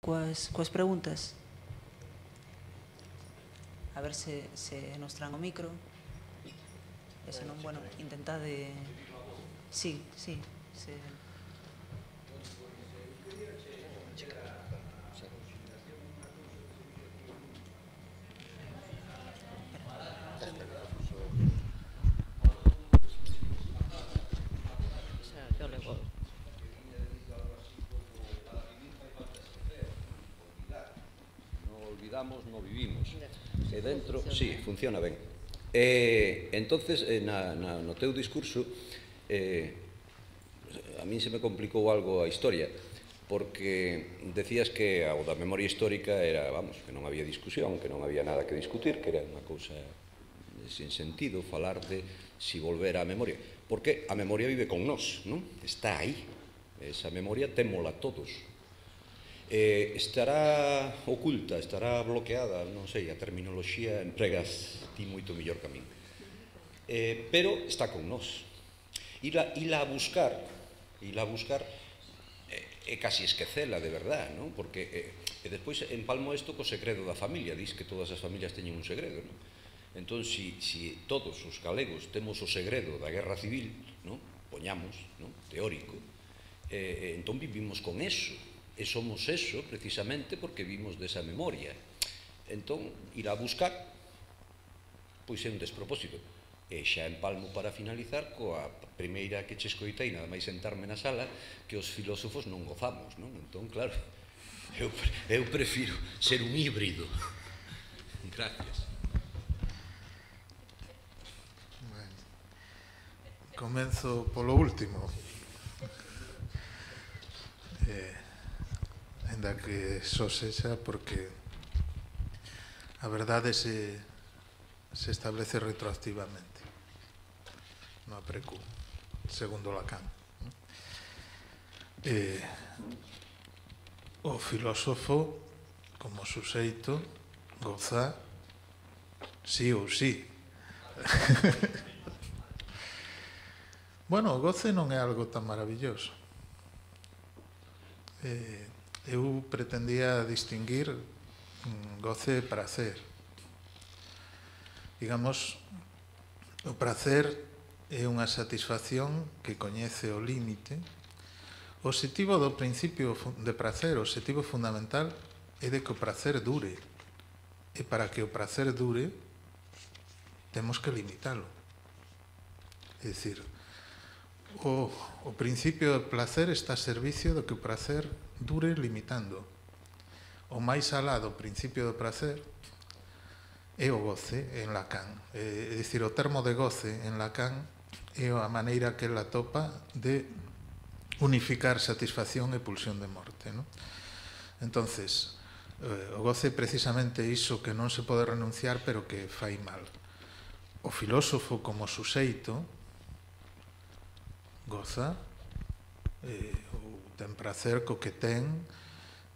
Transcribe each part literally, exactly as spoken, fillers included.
coas, coas preguntas. A ver se, se nos tran o micro. E se non, bueno, intentade... Sí, sí, se... Yo le voy. No olvidamos, no vivimos. E dentro, sí, funciona ben. E, entonces, na, na, no teu discurso, eh, a min se me complicou algo a historia, porque decías que o da memoria histórica era, vamos, que non había discusión, que non había nada que discutir, que era unha cousa sin sentido falar de si volver á memoria. Porque a memoria vive con nós, non? Está aí. Esa memoria témola todos. Eh, estará oculta, estará bloqueada, non sei, a terminoloxía empregas ti moito mellor que a min. Eh, pero está con nós. Ila, ila a buscar, ila a buscar é casi esquecela de verdad, non? Porque, eh, e despois empalmo isto co segredo da familia, dis que todas as familias teñen un segredo, non? Entón, si, si todos os galegos temos o segredo da guerra civil, non? Poñamos, non? Teórico, eh, entón vivimos con eso, e somos eso precisamente porque vimos desa memoria. Entón, ir a buscar, pois é un despropósito. E xa empalmo para finalizar coa primeira que che escoitei, nada máis sentarme na sala, que os filósofos non gozamos, non? Entón, claro, eu, eu prefiro ser un híbrido. Gracias. Bueno, comenzo polo último. Eh, ainda que só sexa porque a verdade se, se establece retroactivamente no aprecu, segundo Lacan. Eh, o filósofo, como suxeito, goza sí ou sí. Bueno, o goce non é algo tan maravilloso. Eh, eu pretendía distinguir goce e prazer. Digamos, o prazer é unha satisfacción que coñece o límite. O obxectivo do principio de prazer, o obxectivo fundamental, é de que o prazer dure. E para que o prazer dure, temos que limitalo. É dicir, o, o principio do placer está a servicio do que o prazer dure limitando. O máis alá do principio do prazer é o goce en Lacan. É dicir, o termo de goce en Lacan é a maneira que ela atopa de unificar satisfacción e pulsión de morte, non? Entonces, eh, o goce é precisamente iso que non se pode renunciar, pero que fai mal. O filósofo como suxeito goza, eh, ou ten prazer co que ten,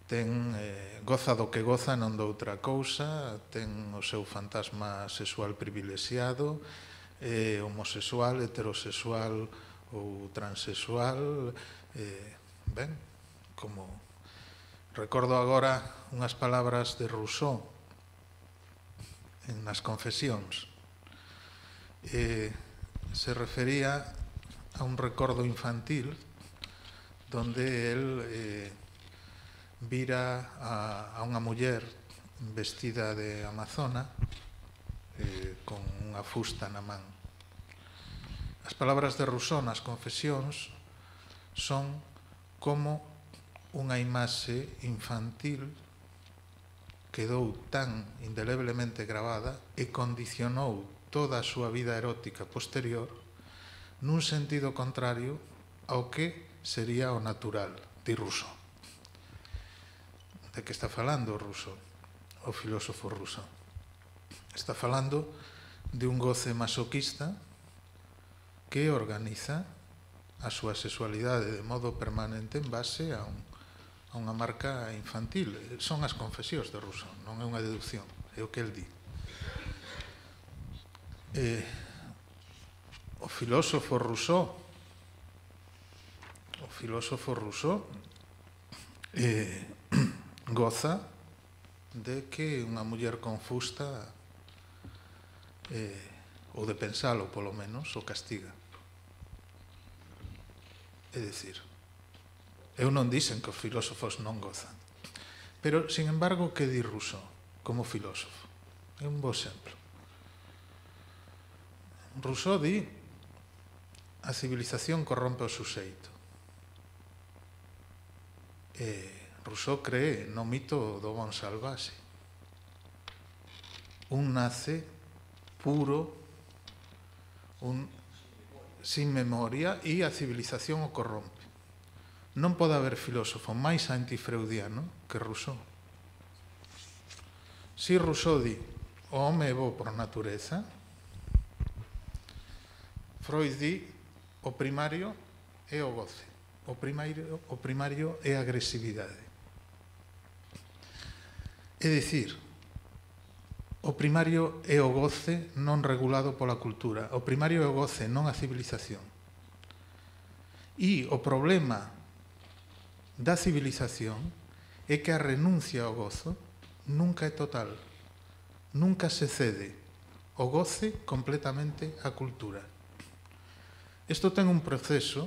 ten eh, goza do que goza, non doutra cousa, ten o seu fantasma sexual privilexiado, é homosexual, heterosexual ou transexual, eh, ben, como recordo agora unhas palabras de Rousseau en Nas Confesións. Eh, se refería a un recordo infantil donde el eh, vira a, a unha muller vestida de amazona eh, con unha fusta na man. As palabras de Rousseau nas Confesións son como unha imaxe infantil quedou tan indeleblemente gravada e condicionou toda a súa vida erótica posterior nun sentido contrario ao que sería o natural, di Rousseau. De que está falando Rousseau, o filósofo Rousseau? Está falando de un goce masoquista que organiza a súa sexualidade de modo permanente en base a, un, a unha marca infantil. Son as confesións de Rousseau, non é unha deducción, é o que el di. Eh, o filósofo Rousseau o filósofo Rousseau eh, goza de que unha muller confusta eh, ou de pensalo polo menos o castiga. É dicir, eu non dixen que os filósofos non gozan, pero, sin embargo, que di Rousseau como filósofo? É un bo exemplo. Rousseau di a civilización corrompe o suxeito. E Rousseau cree no mito do bon salvaxe. Un nace puro, un sin memoria, e a civilización o corrompe. Non pode haber filósofo máis antifreudiano que Rousseau. Si Rousseau di o home é bo por natureza, Freud di o primario é o goce, o primario, o primario é a agresividade. É dicir, o primario é o goce non regulado pola cultura, o primario é o goce, non a civilización. E o problema da civilización é que a renuncia ao gozo nunca é total, nunca se cede o goce completamente á cultura. Isto ten un proceso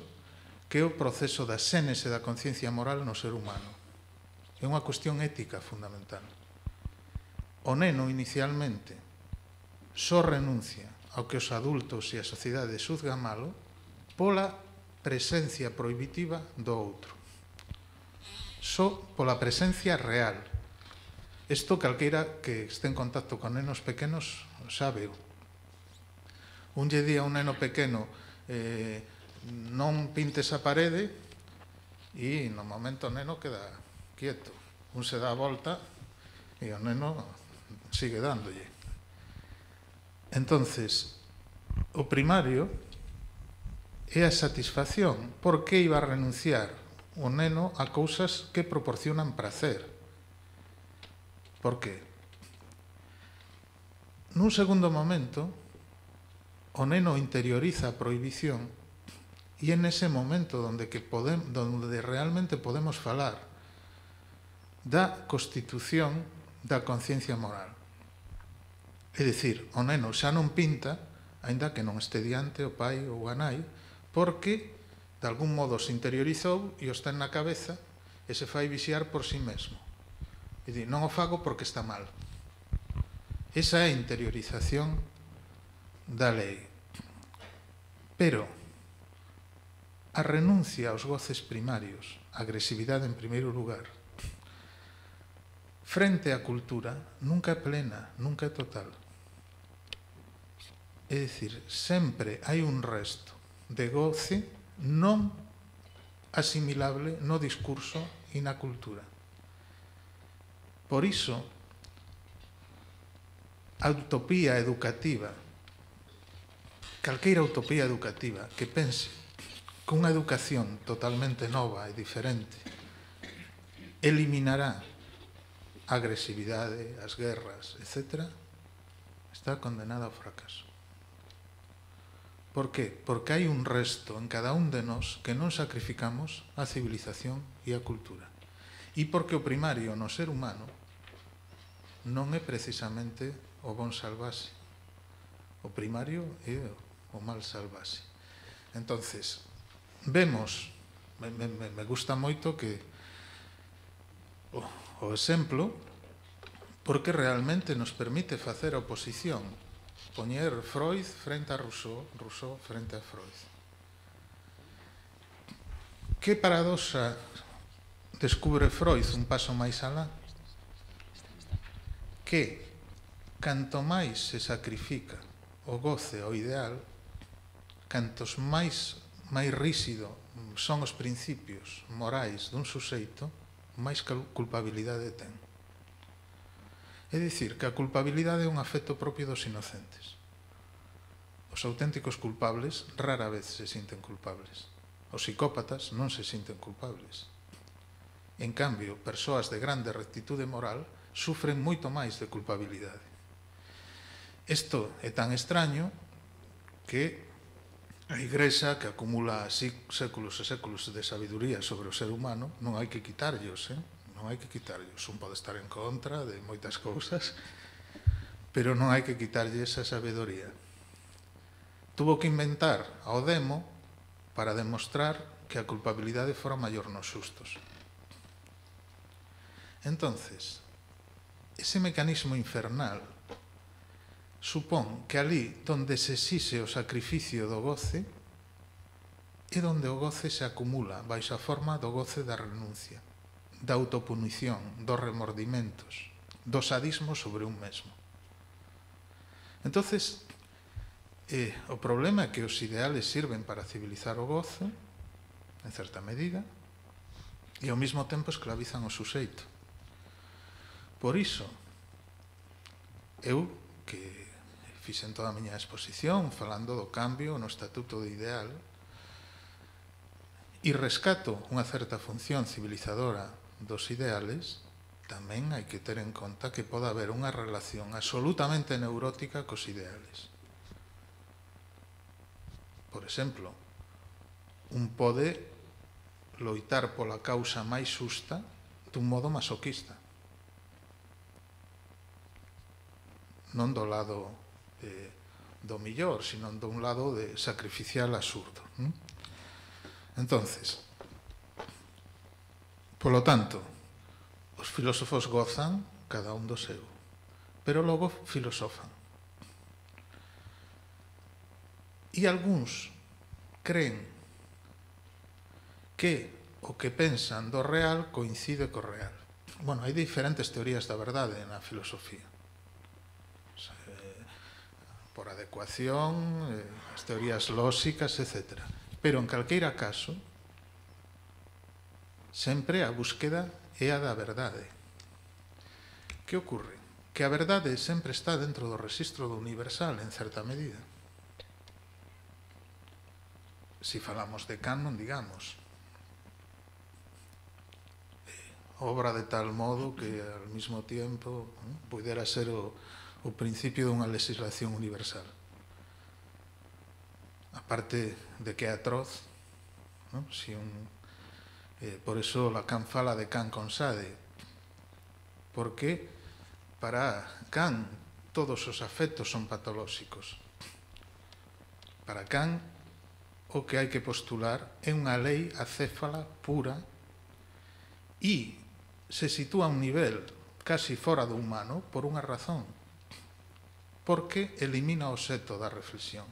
que é o proceso da xénese da conciencia moral no ser humano. É unha cuestión ética fundamental. O neno, inicialmente, só renuncia ao que os adultos e a sociedade xuzgan malo pola presencia prohibitiva do outro. Só pola presencia real. Isto calqueira que este en contacto con nenos pequenos sábeo. Un lle di a un neno pequeno eh, non pintes a parede e no momento o neno queda quieto. Un se dá a volta e o neno sigue dándolle. Entonces, o primario é a satisfacción. Por que iba a renunciar o neno a cousas que proporcionan prazer? Por que? Nun segundo momento, o neno interioriza a prohibición e é nese momento onde, que podem, onde realmente podemos falar da constitución da conciencia moral. É dicir, o neno xa non pinta, aínda que non este diante o pai ou a nai, porque de algún modo se interiorizou e o está na cabeza e se fai vixiar por si mesmo. E di, non o fago porque está mal. Esa é a interiorización da lei. Pero a renuncia aos goces primarios, a agresividade en primeiro lugar, frente á cultura, nunca é plena, nunca é total. É dicir, sempre hai un resto de goce non asimilable no discurso e na cultura. Por iso, a utopía educativa, calqueira utopía educativa que pense que unha educación totalmente nova e diferente eliminará a agresividade, as guerras, etcétera, está condenada ao fracaso. Por que? Porque hai un resto en cada un de nós que non sacrificamos a civilización e a cultura. E porque o primario no ser humano non é precisamente o bon salvaxe. O primario é o mal salvaxe. Entonces, vemos, me, me, me gusta moito que o, o exemplo, porque realmente nos permite facer a oposición, poñer Freud frente a Rousseau, Rousseau frente a Freud. Que paradoxa descubre Freud un paso máis alá? Que canto máis se sacrifica o goce ao ideal, cantos máis máis rígido son os principios morais dun suxeito, máis culpabilidade ten. É dicir, que a culpabilidade é un afecto propio dos inocentes. Os auténticos culpables rara vez se sinten culpables. Os psicópatas non se sinten culpables. En cambio, persoas de grande rectitude moral sufren moito máis de culpabilidade. Isto é tan extraño que a Igrexa, que acumula séculos e séculos de sabiduría sobre o ser humano, non hai que quitarllos, eh? non hai que quitarlle. Un pode estar en contra de moitas cousas, pero non hai que quitarlle esa sabedoría. Tuvo que inventar ao demo para demostrar que a culpabilidade fora maior nos xustos. Entonces, ese mecanismo infernal supón que ali donde se exixe o sacrificio do goce é donde o goce se acumula baixo a forma do goce da renuncia, da autopunición, dos remordimentos, do sadismo sobre un mesmo. Entonces, eh, o problema é que os ideales sirven para civilizar o gozo, en certa medida, e ao mesmo tempo esclavizan o suxeito. Por iso, eu, que fixen toda a miña exposición falando do cambio no estatuto do ideal, e rescato unha certa función civilizadora dos ideales, tamén hai que ter en conta que pode haber unha relación absolutamente neurótica cos ideales. Por exemplo, un pode loitar pola causa máis xusta dun modo masoquista. Non do lado eh, do millor, sino dun lado de sacrificial absurdo. ¿Mm? Entonces, polo tanto, os filósofos gozan cada un do seu, pero logo filosofan. E algúns creen que o que pensan do real coincide co real. Bueno, hai diferentes teorías da verdade na filosofía. Por adecuación, as teorías lóxicas, etcétera. Pero, en calqueira caso, sempre a búsqueda é a da verdade. Que ocorre? Que a verdade sempre está dentro do rexistro do universal, en certa medida. Si falamos de Kant, non digamos. Obra de tal modo que, al mismo tiempo, pudera ser o, o principio dunha legislación universal. Aparte de que é atroz, ¿no? Si un, eh, por eso Lacan fala de Kant con Sade, porque para Kant todos os afectos son patolóxicos. Para Kant o que hai que postular é unha lei acéfala pura e se sitúa a un nivel casi fora do humano por unha razón, porque elimina o obxecto da reflexión.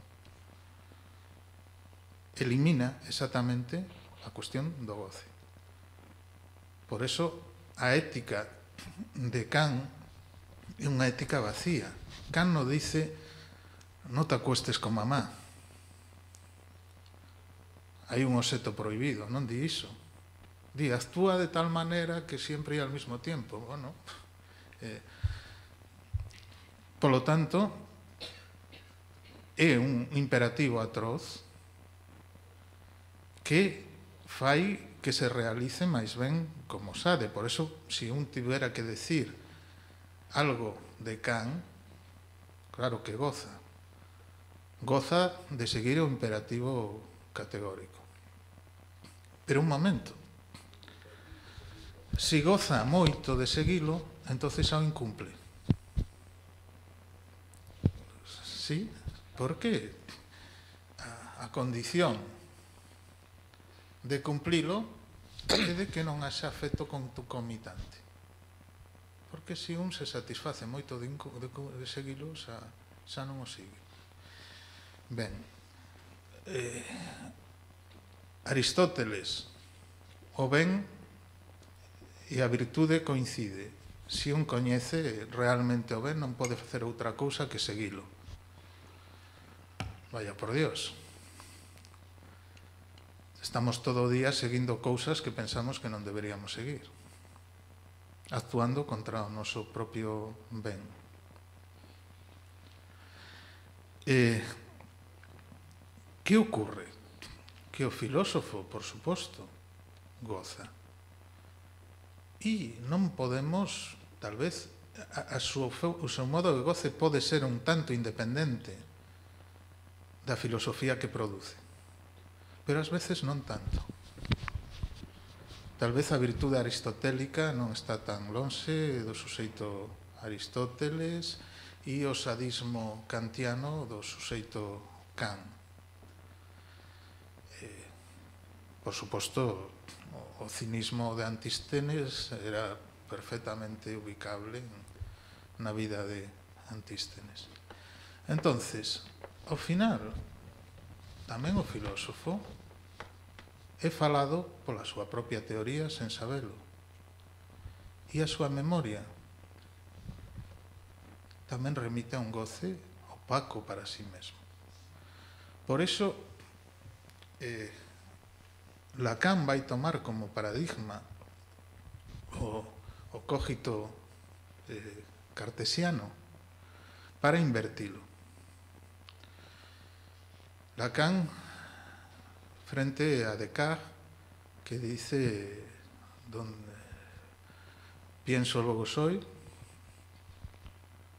Elimina exactamente a cuestión do goce. Por eso, a ética de Kant é unha ética vacía. Kant non dice, non te acuestes con mamá. Hai un obxecto prohibido, non di iso. Di, actúa de tal maneira que sempre e ao mesmo tempo. Bueno, eh, polo tanto, é un imperativo atroz que fai que se realice máis ben como Sade. Por eso, se un tivera que decir algo de Kant, claro que goza. Goza de seguir o imperativo categórico. Pero un momento. Se goza moito de seguilo, entonces ao incumple. Sí? Por que a, a condición de cumplilo é de que non haxa efecto concomitante. Porque se un se satisface moito de, de, de seguilo, xa, xa non o sigue. Ben, eh, Aristóteles, o ben e a virtude coincide. Se un coñece realmente o ben, non pode facer outra cousa que seguilo. Vaya por Dios. Estamos todo o día seguindo cousas que pensamos que non deberíamos seguir, actuando contra o noso propio ben. Eh, que ocorre? Que o filósofo, por suposto, goza. E non podemos, tal vez, a, a súa, o seu modo de goce pode ser un tanto independente da filosofía que produce. Pero ás veces non tanto. Tal vez a virtude aristotélica non está tan lonxe do suxeito Aristóteles e o sadismo kantiano do suxeito Kant. Eh, por suposto, o cinismo de Antístenes era perfectamente ubicable na vida de Antístenes. Entonces, ao final, tamén o filósofo é falado pola súa propia teoría sen sabelo. E a súa memoria tamén remite a un goce opaco para sí mesmo. Por iso, eh, Lacan vai tomar como paradigma o, o cógito eh, cartesiano para invertilo. Lacan, frente a Descartes, que dice donde pienso luego soy,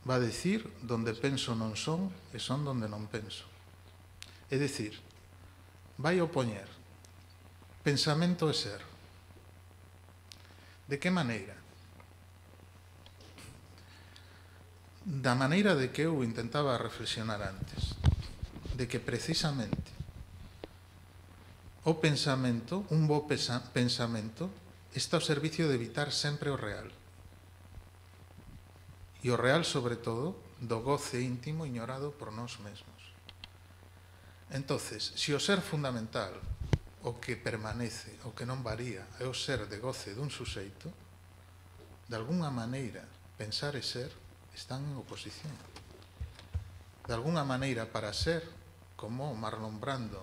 va a decir donde penso non son e son donde non penso. É dicir, vai opoñer pensamento e ser. De que maneira? Da maneira de que eu intentaba reflexionar antes, de que precisamente o pensamento, un bo pensamento, está ao servicio de evitar sempre o real. E o real, sobre todo, do goce íntimo ignorado por nós mesmos. Entonces, se o ser fundamental, o que permanece, o que non varía, é o ser de goce dun suxeito, de alguna maneira, pensar e ser están en oposición. De alguna maneira, para ser, como Marlon Brando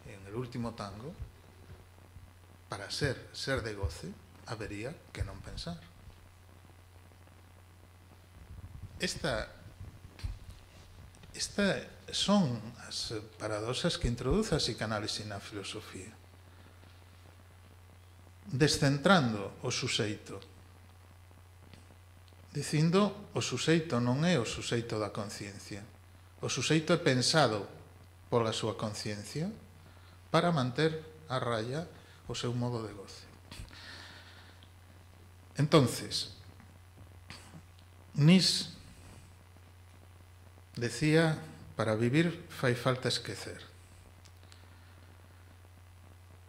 en El último tango, para ser, ser de goce, habería que non pensar. Esta, esta son as paradoxas que introduce a psicanálise na filosofía. Descentrando o suxeito, dicindo o suxeito non é o suxeito da conciencia. O suxeito é pensado pola súa conciencia para manter a raya o seu modo de goce. Entonces, Nietzsche decía, para vivir fai falta esquecer.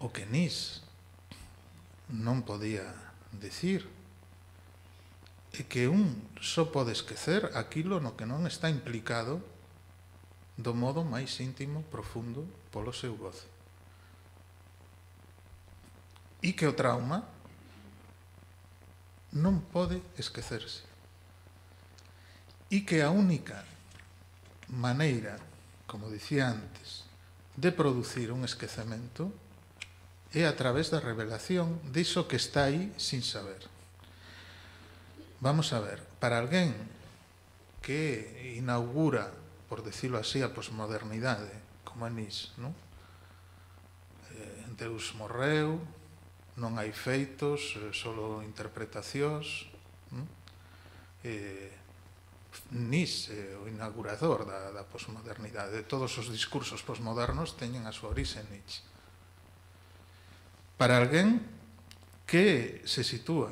O que Nietzsche non podía decir é que un só pode esquecer aquilo no que non está implicado do modo máis íntimo, profundo, polo seu goce. E que o trauma non pode esquecerse. E que a única maneira, como dicía antes, de producir un esquecemento é a través da revelación diso que está aí sin saber. Vamos a ver, para alguén que inaugura, por decirlo así, a posmodernidade, como a Nietzsche, non? Eh, Deus morreu, non hai feitos, eh, solo interpretacións. Non? Eh, Nietzsche é o inaugurador da, da posmodernidade. Todos os discursos posmodernos teñen a súa orixe en Nietzsche. Para alguén que se sitúa,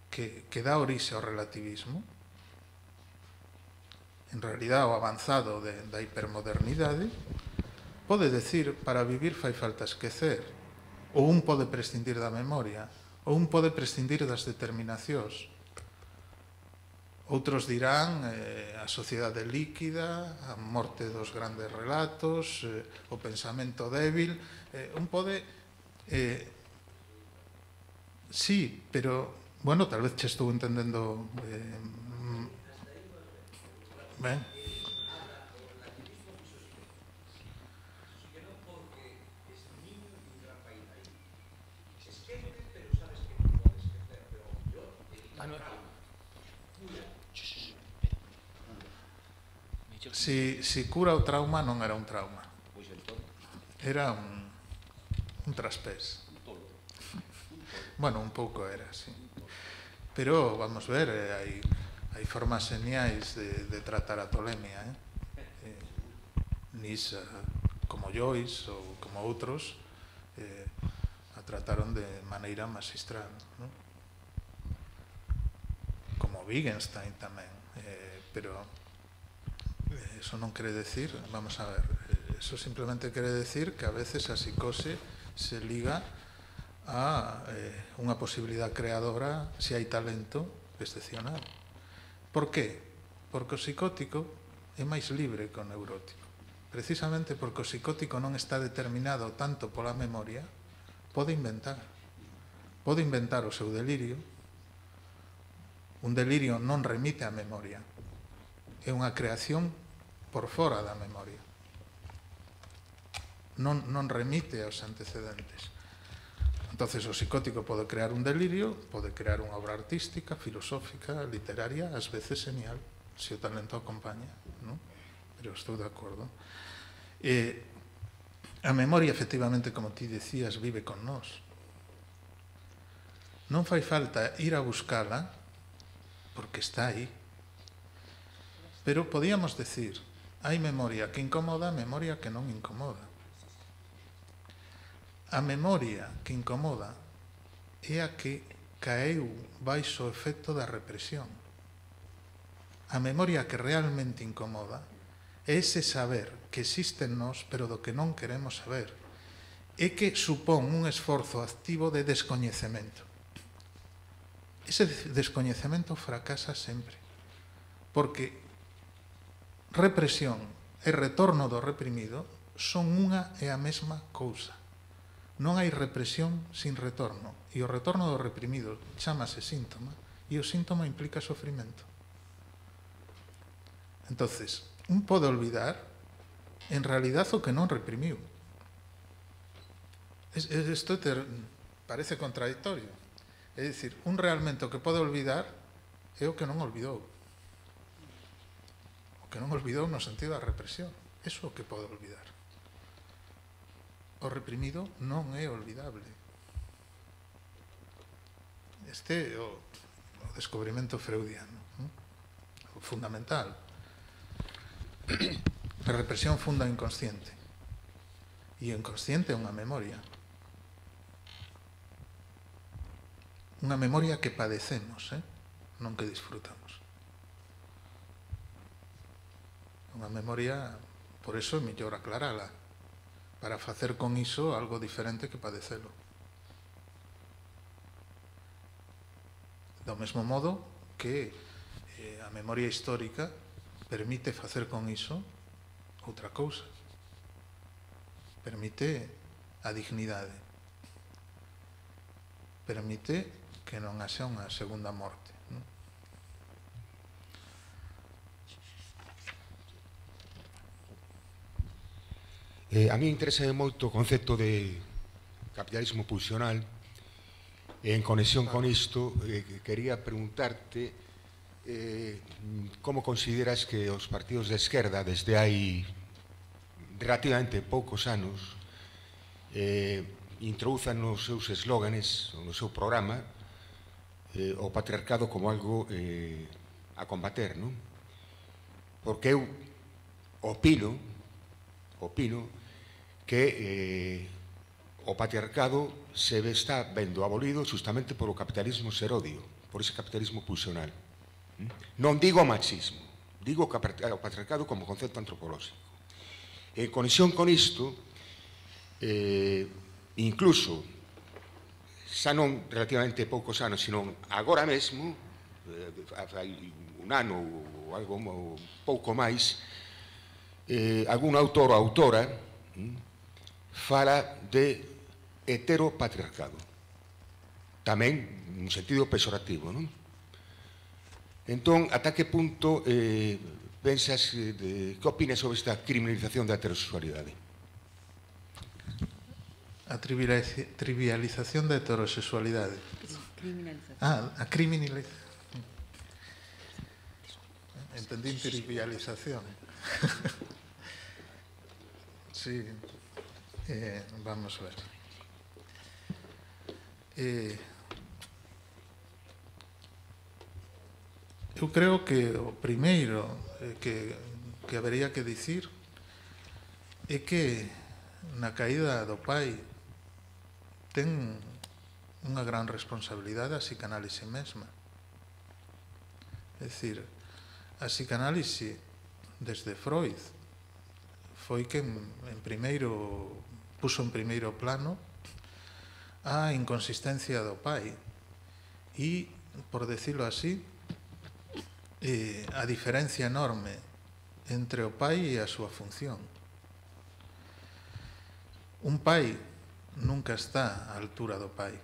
que, que dá orixe ao relativismo, en realidad o avanzado de, da hipermodernidade, pode decir, para vivir fai falta esquecer, ou un pode prescindir da memoria, ou un pode prescindir das determinacións. Outros dirán eh, a sociedade líquida, a morte dos grandes relatos, eh, o pensamento débil. Eh, un pode... Eh, sí, pero, bueno, tal vez che estou entendendo... Eh, ben. Si, si cura o trauma non era un trauma, era un, un traspés. Bueno, un pouco era, sí. Pero, vamos ver, eh, hai, hai formas geniais de, de tratar a tolemia, eh? eh Nietzsche, como Joyce ou como outros, eh, a trataron de maneira magistral, non? Como Wittgenstein tamén, eh, pero eso non quere decir, vamos a ver, eso simplemente quere decir que a veces a psicose se liga a eh, unha posibilidade creadora se hai talento excepcional. Por qué? Porque o psicótico é máis libre que o neurótico. Precisamente porque o psicótico non está determinado tanto pola memoria, pode inventar. Pode inventar o seu delirio. Un delirio non remite á memoria. É unha creación por fora da memoria. Non, non remite aos antecedentes. Entonces o psicótico pode crear un delirio, pode crear unha obra artística, filosófica, literaria, ás veces genial, se o talento acompaña, non? Pero estou de acordo. Eh, a memoria, efectivamente, como ti decías, vive con nós. Non fai falta ir a buscala, porque está aí. Pero podíamos decir, hai memoria que incomoda, memoria que non incomoda. A memoria que incomoda é a que caeu baixo o efecto da represión. A memoria que realmente incomoda é ese saber que existe en nós, pero do que non queremos saber. É que supón un esforzo activo de descoñecemento. Ese descoñecemento fracasa sempre. Porque represión e retorno do reprimido son unha e a mesma cousa. Non hai represión sin retorno. E o retorno do reprimido chámase síntoma, e o síntoma implica sofrimento. Entonces, un pode olvidar en realidad o que non reprimiu. Isto parece contradictorio. É dicir, un realmente o que pode olvidar é o que non olvidou. O que non olvidou no sentido da represión. Eso é o que pode olvidar. O reprimido non é olvidable. Este é o, o descubrimento freudiano, non? O fundamental. A represión funda o inconsciente. E o inconsciente é unha memoria. Unha memoria que padecemos, eh? Non que disfrutamos. Unha memoria, por eso é mellor aclarala, para facer con iso algo diferente que padecelo. Do mesmo modo que eh, a memoria histórica permite facer con iso outra cousa. Permite a dignidade. Permite que non haxa unha segunda morte. Non? Eh, a mí interesa moito o concepto de capitalismo pulsional. En conexión con isto, eh, quería preguntarte eh, como consideras que os partidos de esquerda desde hai relativamente poucos anos eh, introduzan nos seus eslóganes, no seu programa, eh, o patriarcado como algo eh, a combater, non? Porque eu opino, opino que eh, o patriarcado se está vendo abolido justamente por o capitalismo serodio, por ese capitalismo pulsional. Non digo machismo, digo o patriarcado como concepto antropolóxico. En conexión con isto, eh, incluso, xa non relativamente poucos anos, sino agora mesmo, hai un ano ou algo un pouco máis, eh, algún autor ou autora hm, fala de heteropatriarcado. Tamén nun sentido pexorativo, non? Entón, ata que punto eh, pensas, de, que opinas sobre esta criminalización da heterosexualidade? A trivialización da heterosexualidade. Ah, a criminalización. Entendí trivialización. Sí. Eh, vamos a ver. Eh, eu creo que o primeiro eh, que, que habería que dicir é que na caída do pai ten unha gran responsabilidade a psicanálise mesma. É dicir, a psicanálise desde Freud foi que en primeiro puso en primeiro plano a inconsistencia do pai e, por decirlo así, eh, a diferencia enorme entre o pai e a súa función. Un pai nunca está á altura do pai.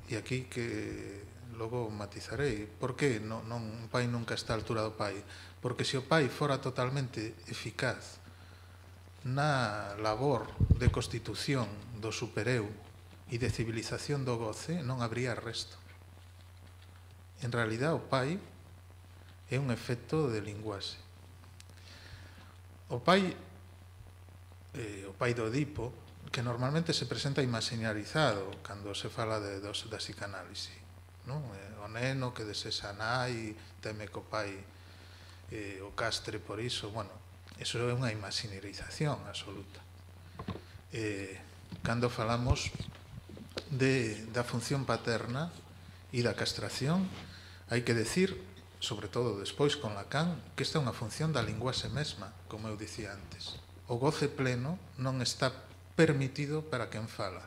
E aquí que logo matizarei. Por que non, non, un pai nunca está á altura do pai? Porque se o pai fora totalmente eficaz na labor de constitución do supereu e de civilización do goce, non habría resto. En realidad, o pai é un efecto de linguaxe. O pai, eh, o pai do Edipo, que normalmente se presenta imaginarizado cando se fala de, dos, da psicanálise, non? O neno que desexa nai, teme co pai eh, o castre por iso, bueno, eso é unha imaginarización absoluta. Eh, cando falamos de, da función paterna e da castración, hai que decir, sobre todo despois con Lacan, que esta é unha función da linguaxe mesma, como eu dicía antes. O goce pleno non está permitido para quen fala.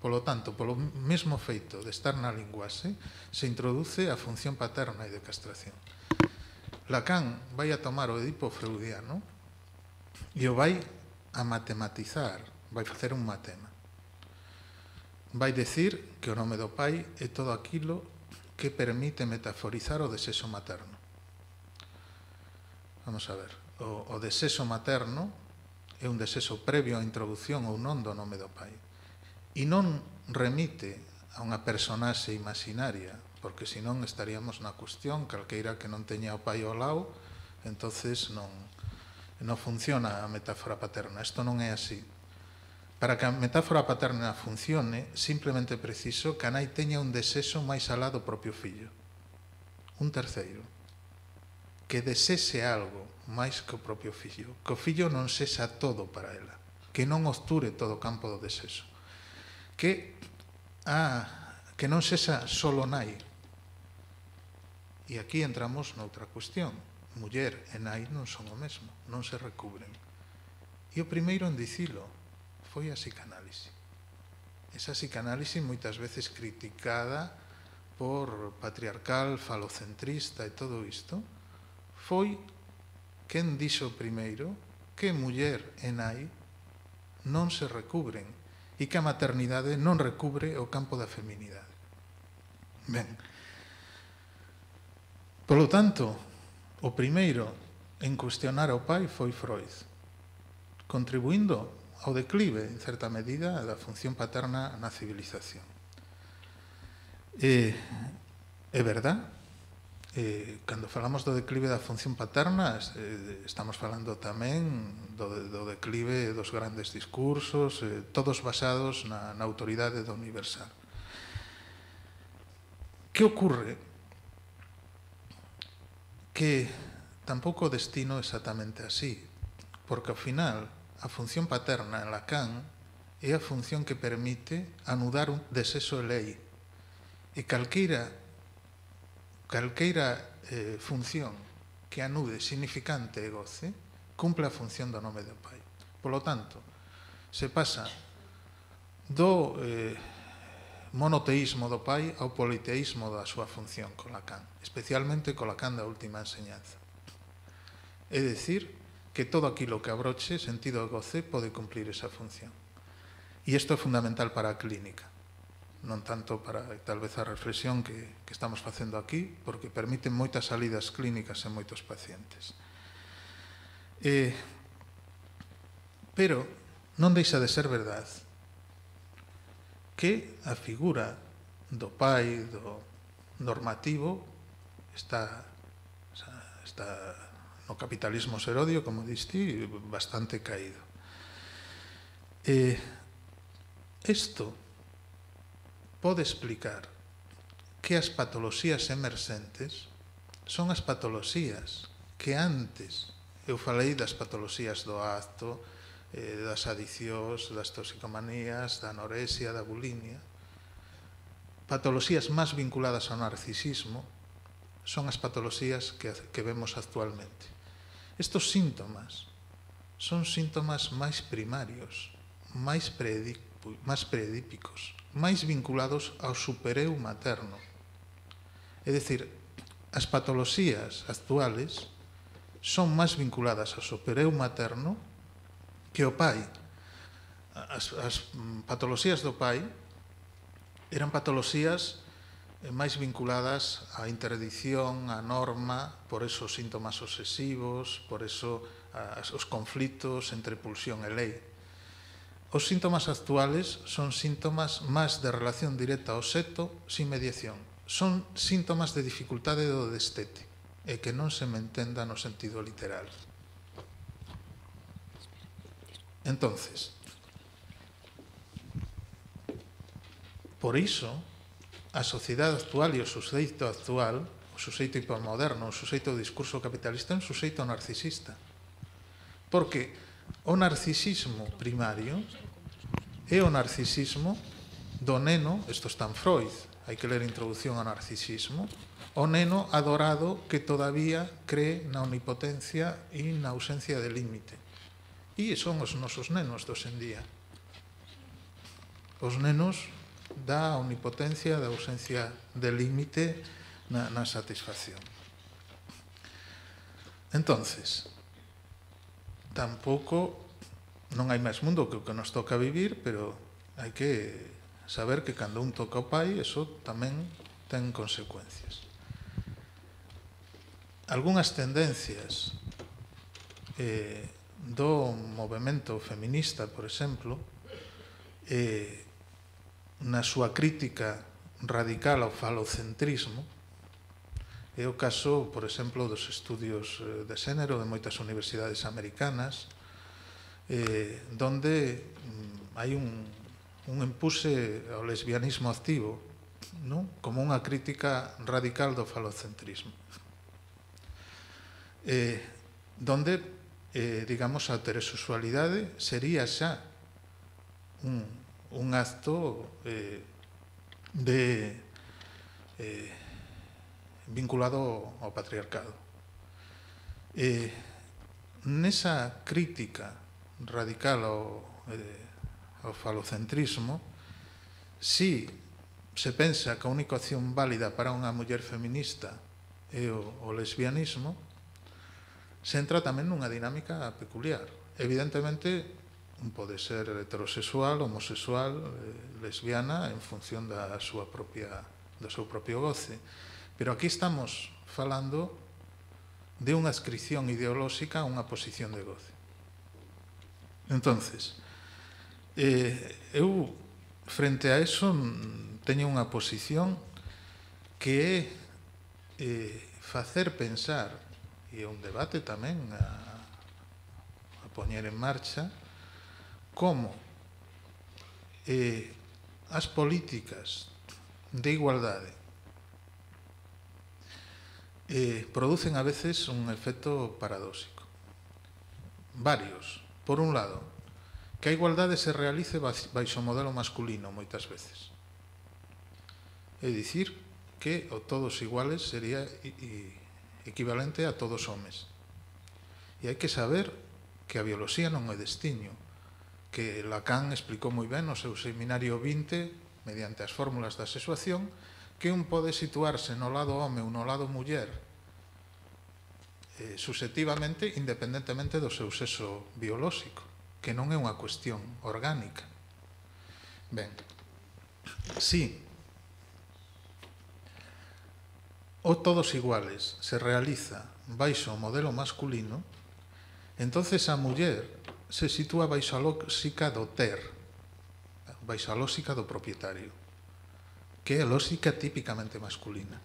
Polo tanto, polo mesmo feito de estar na linguaxe, se introduce a función paterna e de castración. Lacan vai a tomar o Edipo freudiano e o vai a matematizar, vai facer un matema. Vai decir que o nome do pai é todo aquilo que permite metaforizar o desexo materno. Vamos a ver, o, o desexo materno é un desexo previo á introducción ou non do nome do pai. E non remite a unha personaxe imaginaria, porque senón estaríamos na cuestión, calqueira que non teña o pai ao lado, entonces non, non funciona a metáfora paterna. Isto non é así. Para que a metáfora paterna funcione, simplemente preciso que a nai teña un desexo máis alá do propio fillo. Un terceiro. Que desexe algo máis que o propio fillo. Que o fillo non sexa todo para ela. Que non obture todo o campo do desexo. Que, ah, que non sexa solo nai. E aquí entramos noutra cuestión. Muller e nai non son o mesmo, non se recubren. E o primeiro en dicilo foi a psicanálise. Esa psicanálise moitas veces criticada por patriarcal, falocentrista e todo isto, foi quen dixo primeiro que muller e nai non se recubren e que a maternidade non recubre o campo da feminidade. Ben, polo tanto, o primeiro en cuestionar o pai foi Freud, contribuindo ao declive, en certa medida, da función paterna na civilización. E, é verdad, eh, cando falamos do declive da función paterna, eh, estamos falando tamén do, do declive dos grandes discursos, eh, todos basados na, na autoridade do universal. Que ocorre? Que tampouco o destino exactamente así, porque ao final a función paterna en Lacan é a función que permite anudar un desexo de lei e calqueira calqueira eh, función que anude significante e goce cumple a función do nome do pai. Polo tanto, se pasa do eh, monoteísmo do pai ao politeísmo da súa función con Lacan, especialmente con Lacan da última enseñanza. É dicir, que todo aquilo que abroche sentido de goce pode cumplir esa función. E isto é fundamental para a clínica, non tanto para tal vez a reflexión que, que estamos facendo aquí, porque permiten moitas salidas clínicas en moitos pacientes. Eh, pero non deixa de ser verdade que a figura do pai, do normativo, está, está no capitalismo serodio, como diste, bastante caído. Eh, isto pode explicar que as patoloxías emerxentes son as patoloxías que antes, eu falei das patoloxías do acto, eh, das adiccións, das toxicomanías, da anorexia, da bulimia. Patoloxías máis vinculadas ao narcisismo son as patoloxías que, que vemos actualmente. Estos síntomas son síntomas máis primarios, máis predípicos, máis vinculados ao supereu materno. É dicir, as patoloxías actuales son máis vinculadas ao supereu materno que ao pai. As, as patoloxías do pai eran patoloxías máis vinculadas á interdicción, á norma, por eso os síntomas obsesivos, por eso as, os conflitos entre pulsión e lei. Os síntomas actuales son síntomas máis de relación directa ao xeto sin mediación. Son síntomas de dificultade do destete e que non se me entenda no sentido literal. Entonces, por iso, a sociedade actual e o suxeito actual, o suxeito hipermoderno, o suxeito do discurso capitalista é un suxeito narcisista. Porque o narcisismo primario é o narcisismo do neno, isto está en Freud, hai que ler Introducción ao narcisismo, o neno adorado que todavía cree na omnipotencia e na ausencia de límite. E son os nosos nenos dos en día. Os nenos da omnipotencia, da ausencia de límite na, na satisfacción. Entonces, tampouco non hai máis mundo que o que nos toca vivir, pero hai que saber que cando un toca o pai, eso tamén ten consecuencias. Algúnas tendencias eh, do movemento feminista, por exemplo, eh, na súa crítica radical ao falocentrismo, é o caso, por exemplo, dos estudios de xénero de moitas universidades americanas, eh, donde mm, hai un, un empuse ao lesbianismo activo, non? Como unha crítica radical do falocentrismo. Eh, donde, eh, digamos, a heterosexualidade sería xa un, un acto eh, de... Eh, vinculado ao patriarcado. Eh, nesa crítica radical ao, eh, ao falocentrismo, si se pensa que a única opción válida para unha muller feminista é o, o lesbianismo, se entra tamén nunha dinámica peculiar. Evidentemente, pode ser heterosexual, homosexual, eh, lesbiana, en función da súa propia, do seu propio goce. Pero aquí estamos falando de unha adscripción ideolóxica a unha posición de goce. Entonces, eh, eu, frente a eso, teño unha posición que é eh, facer pensar, e é un debate tamén a, a poñer en marcha, como eh, as políticas de igualdade Eh, producen a veces un efecto paradóxico. Varios. Por un lado, que a igualdade se realice baixo o modelo masculino moitas veces. É dicir, que o todos iguales sería equivalente a todos homes. E hai que saber que a bioloxía non é destiño, que Lacan explicou moi ben no seu seminario vinte, mediante as fórmulas da sexuación, que un pode situarse no lado home ou no lado muller eh, subjetivamente, independentemente do seu sexo biolóxico, que non é unha cuestión orgánica. Ben, si o todos iguales se realiza baixo o modelo masculino, entonces a muller se sitúa baixo a lóxica do ter, baixo a lóxica do propietario, que é a lóxica típicamente masculina.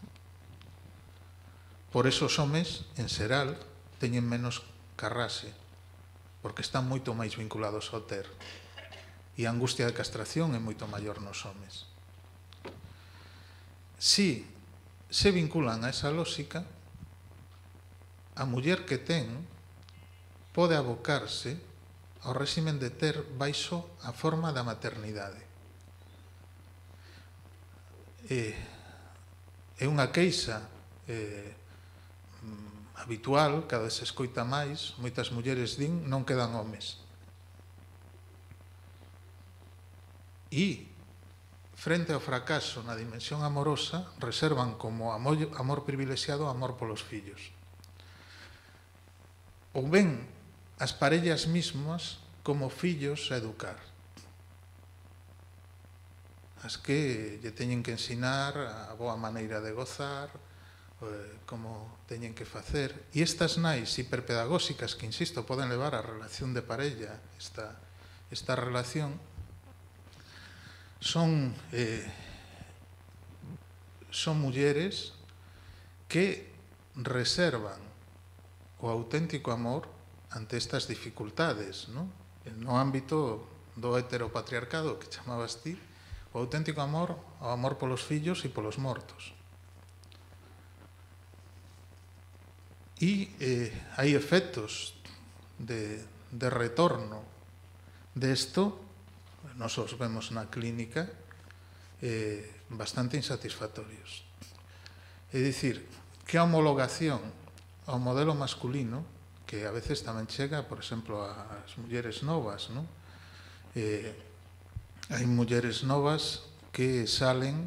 Por eso os homes, en xeral, teñen menos carrase, porque están moito máis vinculados ao ter. E a angustia de castración é moito maior nos homes. Si se vinculan a esa lóxica, a muller que ten pode abocarse ao réximen de ter baixo a forma da maternidade. É, é unha queixa eh, habitual, cada vez se escoita máis, moitas mulleres din non quedan homes. E, frente ao fracaso na dimensión amorosa, reservan como amor, amor privilexiado o amor polos fillos. Ou ben as parellas mismas como fillos a educar, as que lle teñen que ensinar a boa maneira de gozar, como teñen que facer. E estas nais hiperpedagóxicas que, insisto, poden levar a relación de parella, esta, esta relación, son, eh, son mulleres que reservan o auténtico amor ante estas dificultades, ¿no? No ámbito do heteropatriarcado que chamabas ti, o auténtico amor, o amor polos fillos e polos mortos. E eh, hai efectos de, de retorno desto, nos os vemos na clínica, eh, bastante insatisfactorios. É dicir, que a homologación ao modelo masculino, que a veces tamén chega, por exemplo, ás mulleres novas, ¿no? Eh, hai mulleres novas que salen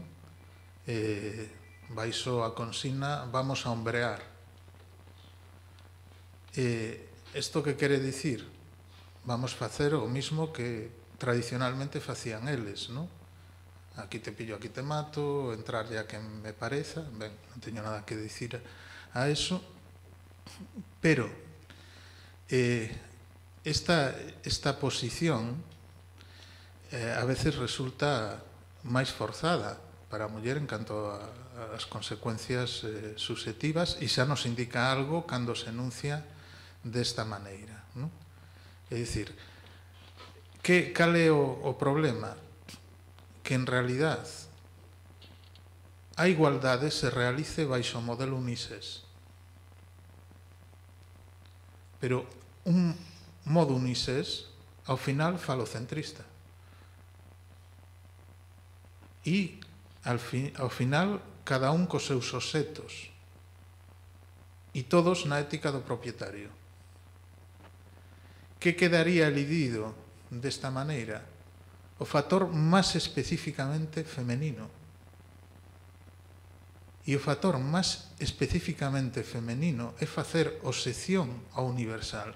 eh, baixo a consigna vamos a hombrear. Eh, isto que quere dicir? Vamos facer o mismo que tradicionalmente facían eles, ¿no? Aquí te pillo, aquí te mato, entrar ya que me pareza. Ben, non teño nada que dicir a eso, pero eh, esta, esta posición eh, a veces resulta máis forzada para a muller en canto ás consecuencias eh, subjetivas, e xa nos indica algo cando se enuncia desta maneira, ¿no? É dicir, que, cal é o, o problema? Que en realidad a igualdade se realice baixo o modelo unisex. Pero un modo unisex, ao final, falocentrista. E, ao, fi, ao final, cada un cos seus obxetos. E todos na ética do propietario. Que quedaría elidido desta maneira? O factor máis especificamente femenino. E o factor máis especificamente femenino é facer obxección ao universal.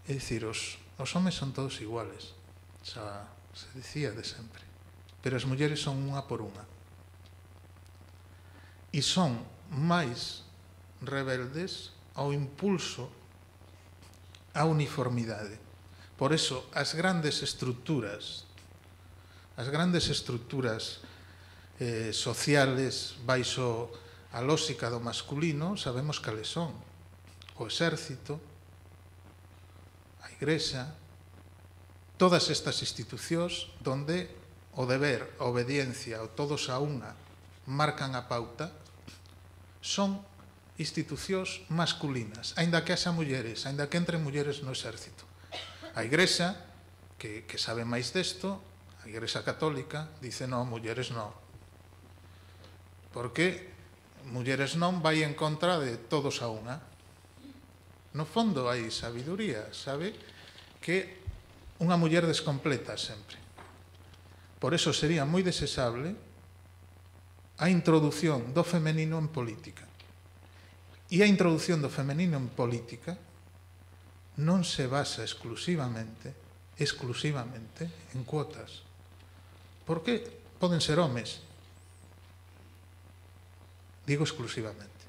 É dicir, os, os homes son todos iguales, xa se dicía de sempre, pero as mulleres son unha por unha. E son máis rebeldes ao impulso á uniformidade. Por eso, as grandes estructuras, as grandes estructuras eh, sociales baixo a lógica do masculino, sabemos cales son. O exército, a igrexa, todas estas institucións donde o deber, a obediencia, o todos a unha, marcan a pauta, son institucións masculinas, aínda que haxa mulleres, aínda que entre mulleres no exército. A igrexa, que, que sabe máis desto, a igrexa católica, dice non, mulleres non. Porque mulleres non vai en contra de todos a unha. No fondo hai sabiduría, sabe que unha muller descompleta sempre. Por eso sería moi desexable a introdución do femenino en política. E a introducción do femenino en política non se basa exclusivamente, exclusivamente en cuotas. Porque poden ser homes. Digo exclusivamente.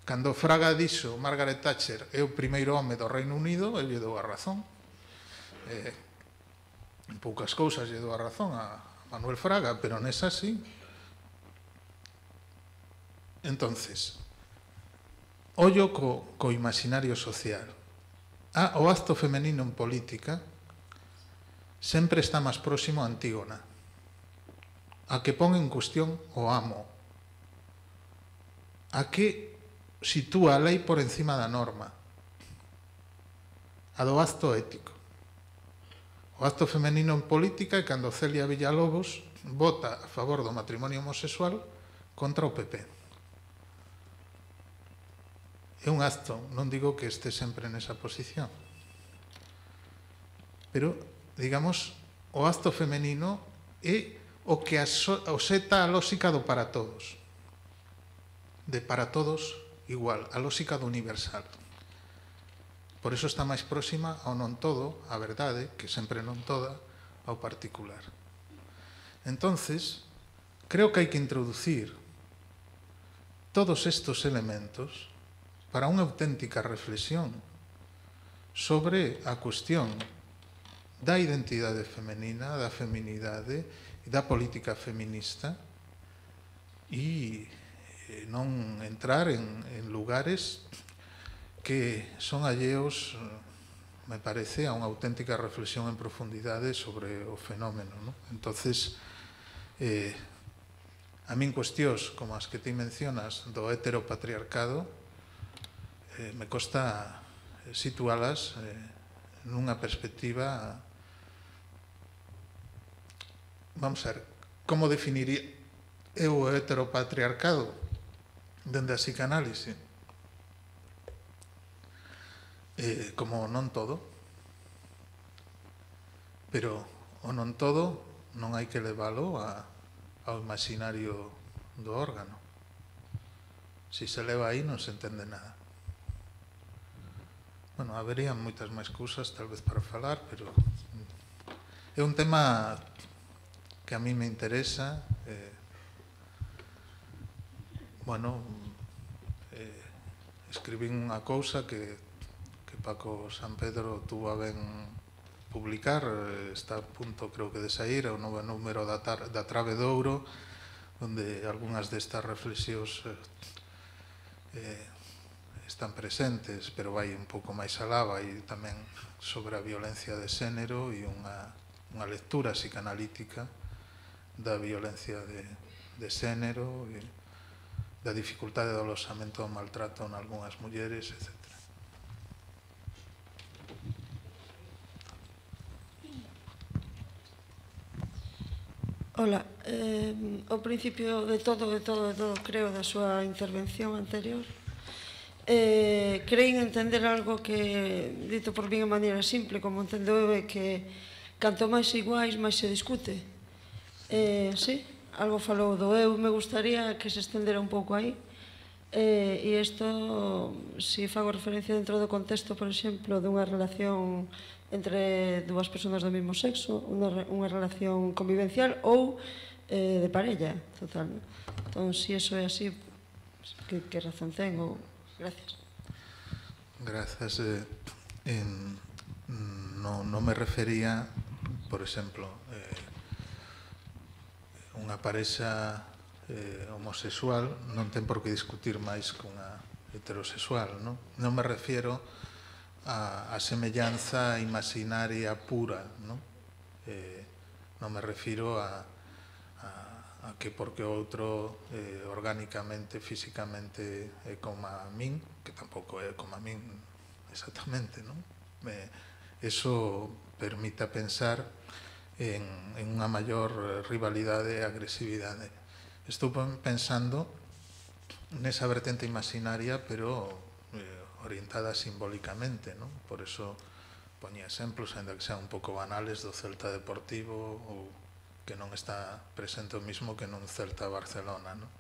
Cando Fraga dixo Margaret Thatcher é o primeiro home do Reino Unido, el lle dou a razón. Eh, en poucas cousas lle dou a razón a Manuel Fraga, pero nesa sí. Entonces, ollo co, co imaginario social. Ah, o acto femenino en política sempre está máis próximo a Antígona, a que pon en cuestión o amo, a que sitúa a lei por encima da norma, a do acto ético. O acto femenino en política é cando Celia Villalobos vota a favor do matrimonio homosexual contra o P P. É un acto, non digo que este sempre nesa posición, pero, digamos, o acto femenino é o que oseta a lógica do para todos, de para todos igual, a lógica do universal. Por iso está máis próxima ao non todo, a verdade, que sempre non toda, ao particular. Entonces, creo que hai que introducir todos estes elementos para unha auténtica reflexión sobre a cuestión da identidade femenina, da feminidade e da política feminista e non entrar en, en lugares que son alleos, me parece, a unha auténtica reflexión en profundidade sobre o fenómeno, ¿no? Entonces, eh, a min cuestións como as que ti mencionas do heteropatriarcado eh, me costa situalas eh, nunha perspectiva, vamos a ver, como definiría eu o heteropatriarcado dende a psicanálise? Eh, como non todo, pero o non todo non hai que leválo a, ao imaginario do órgano. Si se leva aí non se entende nada. Bueno, haberían moitas máis cousas tal vez para falar, pero é un tema que a mí me interesa. Eh, bueno, eh, escribín unha cousa que Paco San Pedro tuvo a ben publicar, está a punto, creo que, de sair, o novo número da, tar, da Trave de Ouro, onde algunhas destas reflexións eh, están presentes, pero vai un pouco máis alá, vai tamén sobre a violencia de xénero e unha, unha lectura psicanalítica da violencia de, de xénero e da dificultade do aloxamento do maltrato en algunhas mulleres, etcétera. Ola, eh, ao principio de todo, de todo, de todo, creo, da súa intervención anterior, eh, creín entender algo que, dito por mí de maneira simple, como entendeu é que canto máis iguais, máis se discute. Eh, sí, algo falou do eu, me gustaría que se estendera un pouco aí. Eh, e isto, se fago referencia dentro do contexto, por exemplo, dunha relación entre dúas persoas do mesmo sexo, unha, unha relación convivencial ou eh, de parella, total. Entón, se iso é así, que, que razón ten? Ou... Gracias. Gracias. Eh, en, no, no me refería, por exemplo, eh, unha parexa eh, homosexual non ten por que discutir máis que unha heterosexual, non? Non me refiero a, a semellanza imaginaria pura, non? Eh, non me refiro a, a, a que porque o outro eh, orgánicamente, físicamente é como a min, que tampouco é como a min exactamente, non? Eh, eso permite pensar en, en unha maior rivalidade e agresividade. Estou pensando nesa vertente imaginaria, pero eh, orientada simbólicamente, non? Por eso poñía exemplos, ainda que sean un pouco banales, do Celta Deportivo, ou que non está presente o mismo que nun Celta Barcelona, non?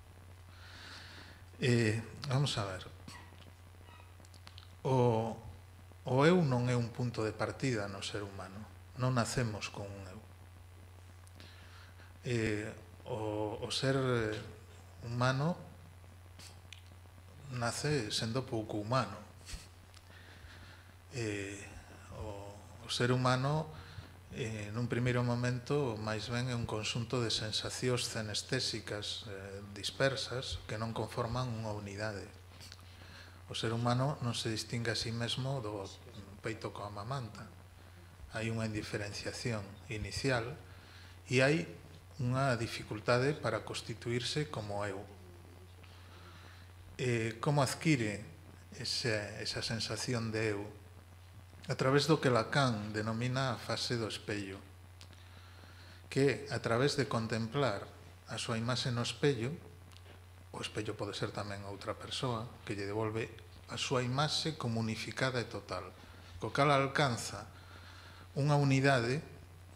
Eh, vamos a ver. O, o eu non é un punto de partida no ser humano. Non nacemos con un eu. Eh, o, o ser humano nace sendo pouco humano. Eh, o, o ser humano eh, nun primeiro momento máis ben é un conxunto de sensacións cenestésicas eh, dispersas que non conforman unha unidade. O ser humano non se distingue a sí mesmo do peito coa mamanta. Hai unha indiferenciación inicial e hai unha dificultade para constituirse como eu. Eh, como adquire esa, esa sensación de eu? a través do que Lacan denomina a fase do espello, que a través de contemplar a súa imaxe no espello, o espello pode ser tamén outra persoa, que lle devolve a súa imaxe como unificada e total, co cal alcanza unha unidade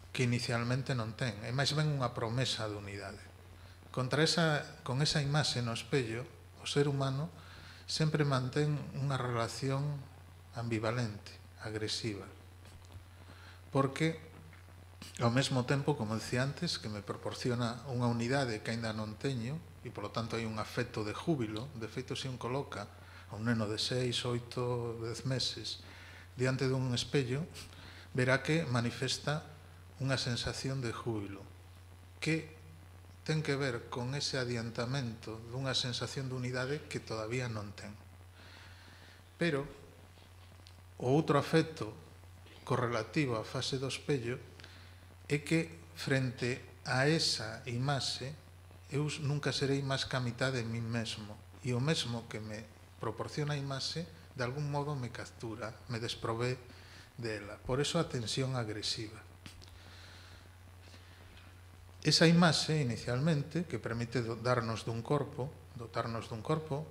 que inicialmente non ten, e máis ben unha promesa de unidade. Contra esa, con esa imaxe no espello, o ser humano sempre mantén unha relación ambivalente, agresiva, porque ao mesmo tempo, como decía antes, que me proporciona unha unidade que aínda non teño, e polo tanto hai un afecto de júbilo. De feito, se un coloca a un neno de seis, oito, dez meses diante dun espello, verá que manifesta unha sensación de júbilo que ten que ver con ese adiantamento dunha sensación de unidade que todavía non ten. Pero o outro afecto correlativo á fase do espello é que frente a esa imaxe eu nunca serei máis que a mitad de min mesmo, e o mesmo que me proporciona a imaxe de algún modo me captura, me desprové dela. Por eso a tensión agresiva. Esa imaxe, inicialmente, que permite darnos dun corpo, dotarnos dun corpo,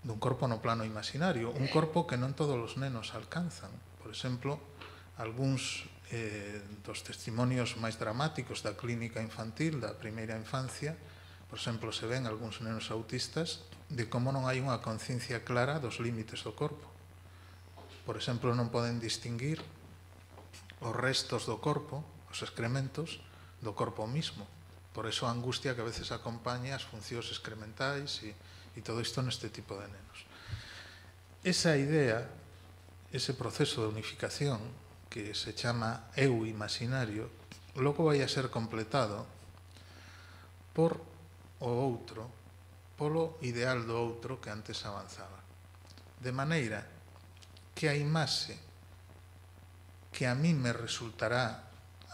dun corpo no plano imaginario, un corpo que non todos os nenos alcanzan. Por exemplo, algúns eh, dos testimonios máis dramáticos da clínica infantil, da primeira infancia, por exemplo, se ven algúns nenos autistas de como non hai unha conciencia clara dos límites do corpo. Por exemplo, non poden distinguir os restos do corpo, os excrementos, do corpo mismo. Por eso a angustia que a veces acompaña as funcións excrementais e, e todo isto neste tipo de nenos. Esa idea, ese proceso de unificación que se chama eu imaginario, logo vai a ser completado por o outro, polo ideal do outro que antes avanzaba. De maneira que a imaxe que a mí me resultará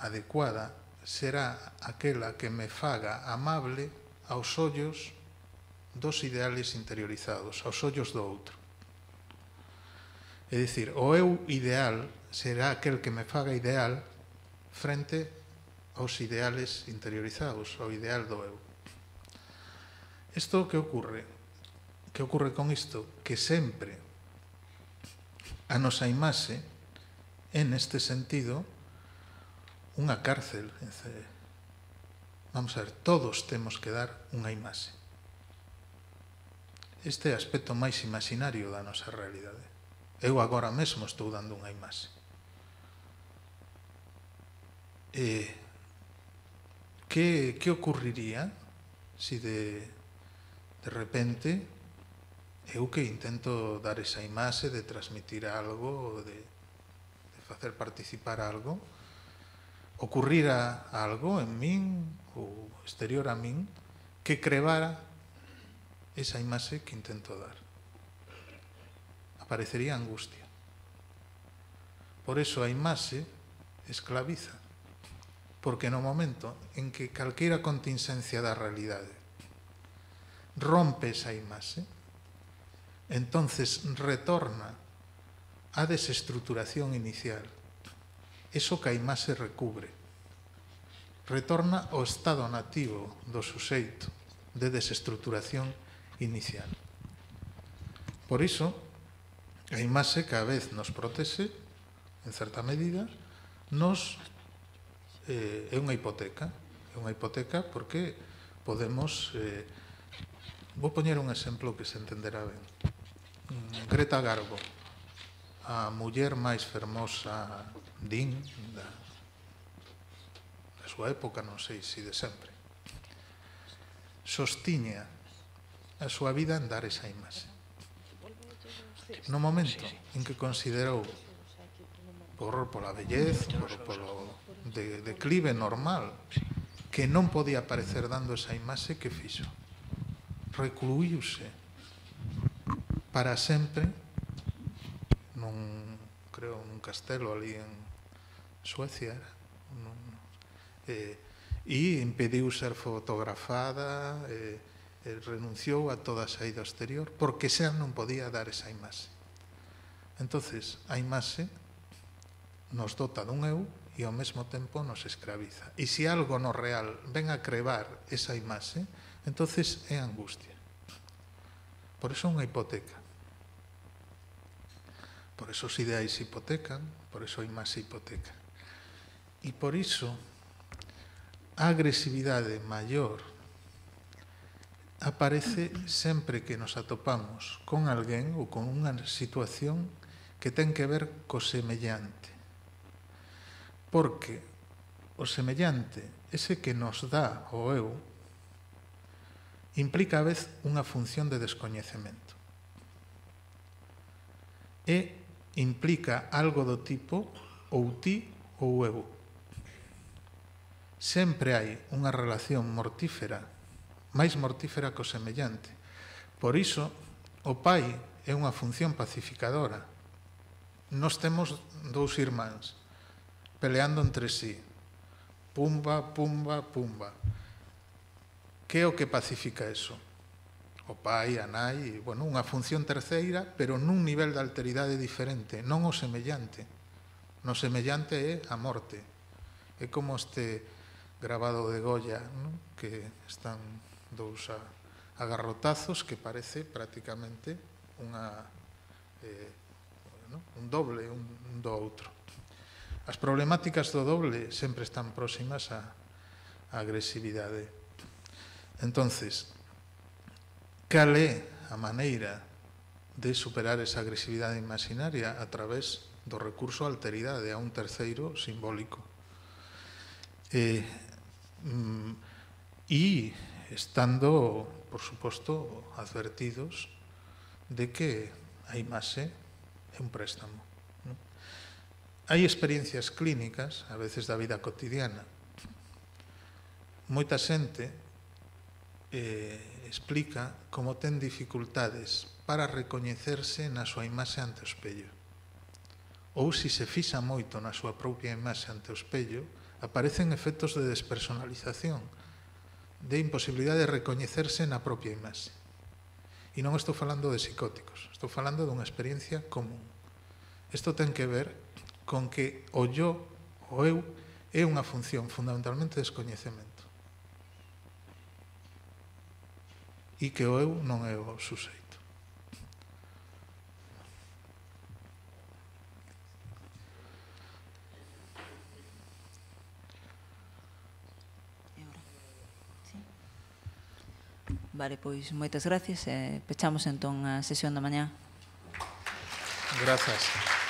adecuada será aquela que me faga amable aos ollos dos ideales interiorizados, aos ollos do outro. É dicir, o eu ideal será aquel que me faga ideal frente aos ideales interiorizados, ao ideal do eu. Isto que ocorre? Que ocorre con isto? Que sempre a nosa imaxe é neste sentido unha cárcel. Vamos a ver, todos temos que dar unha imaxe. Este é o aspecto máis imaginario da nosa realidade. Eu agora mesmo estou dando unha imaxe. E que, que ocurriría se de de repente eu que intento dar esa imaxe de transmitir algo, de, de facer participar algo, ocurrira algo en min ou exterior a min que crevara esa imaxe que intento dar. Aparecería angustia. Por eso a imaxe esclaviza, porque no momento en que calquera contingencia da realidade rompe esa imaxe, entonces retorna a desestructuración inicial. Eso que a imaxe recubre. Retorna ao estado nativo do suxeito de desestructuración inicial. Por iso, a imaxe cada vez nos protexe, en certa medida, nos eh, é unha hipoteca. É unha hipoteca porque podemos... Eh, vou poñer un exemplo que se entenderá ben. Greta Garbo, a muller máis fermosa, din, da, da súa época, non sei se de sempre, sostiña a súa vida en dar esa imaxe. No momento en que considerou, por pola vellez, por, polo de, declive normal, que non podía aparecer dando esa imaxe, que fixo? Recluíuse para sempre nun, creo, nun castelo ali en Suecia, nun, eh, e impediu ser fotografada, eh, eh, renunciou a toda a saída exterior porque xa non podía dar esa imaxe. Entonces, a imaxe nos dota dun eu e ao mesmo tempo nos escraviza. E se algo no real ven a crevar esa imaxe, entonces é angustia. Por eso unha hipoteca. Por eso os ideais hipotecan, por eso a imaxe hipoteca. E por iso a agresividade maior aparece sempre que nos atopamos con alguén ou con unha situación que ten que ver co semellante. Porque o semellante, ese que nos dá o eu, implica a vez unha función de descoñecemento. E implica algo do tipo ou ti ou eu. Sempre hai unha relación mortífera, máis mortífera co semellante. Por iso, o pai é unha función pacificadora. Nós temos dous irmáns peleando entre sí. Pumba, pumba, pumba. Que é o que pacifica eso? O pai, a nai, bueno, unha función terceira, pero nun nivel de alteridade diferente, non o semellante. No semellante é a morte. É como este grabado de Goya, ¿no? Que están dous a, a garrotazos que parece prácticamente unha, eh, bueno, un doble un, un do outro. As problemáticas do doble sempre están próximas á agresividade. Entonces, cal é a maneira de superar esa agresividade imaginaria? A través do recurso á alteridade, a un terceiro simbólico. E, mm, e estando, por suposto, advertidos de que a imaxe é un préstamo. ¿No? Hai experiencias clínicas, a veces da vida cotidiana. Moita xente eh, explica como ten dificultades para recoñecerse na súa imaxe ante o espello. Ou se se fixa moito na súa propia imaxe ante o espello, aparecen efectos de despersonalización, de imposibilidade de recoñecerse na propia imaxe. E non estou falando de psicóticos, estou falando dunha experiencia común. Isto ten que ver con que o yo, o eu, é unha función fundamentalmente de descoñecemento. E que o eu non é o suxeito. Vale, pois moitas gracias e pechamos entón a sesión da mañá. Grazas.